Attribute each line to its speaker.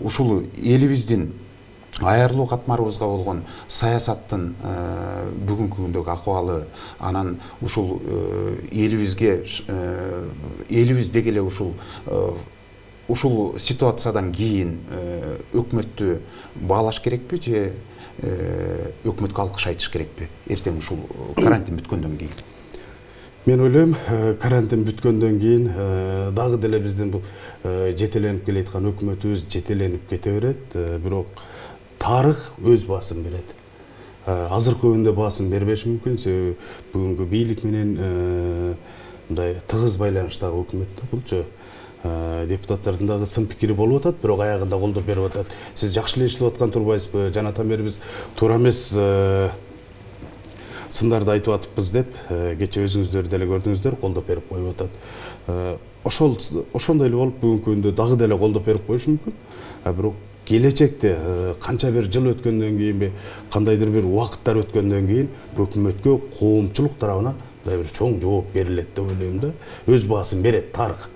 Speaker 1: ушул элибиздин аярлуу катмарыбызга болгон саясаттын бүгүнкү күндөгү акыбалы, анан ушул элибизге элибиз деги эле ушул ситуациядан кийин өкмөттү баалаш керекпи же өкмөткө алкыш айтыш керекпи эртең ушул карантин бүткөндөн кийин?
Speaker 2: Мен ойлойм, карантин бүткөндөн кийин дагы деле биздин бул жетеленип келаткан өкмөтүбүз жетеленип кете берет, бирок тарых өз баасын берет. Азыркы күндө баасын бербеши мүмкүн, себеби бүгүнкү бийлик менен мындай тыгыз байланыштагы өкмөт да булчу. Депутаттардын дагы сын пикири болуп атат, бирок аягында колдоп берип атат. Сиз жакшы эле иштеп аткан турбайсызбы? Жанатан бери биз туура эмес сындарды айтып атыппыз деп, кече өзүңүздөр деле көрдүңүздөр, колдоп берип коюп атат. Ошондой эле болуп бүгүнкү күндө дагы деле колдоп берип коюшу мүмкүн. Бирок келечекте канча бир жыл өткөндөн кийинби, кандайдыр бир убакыттар өткөндөн кийин өкмөткө коомчулук тарабынан мындай бир чоң жооп берилет деп ойлойм да. Өз баасын берет тарых.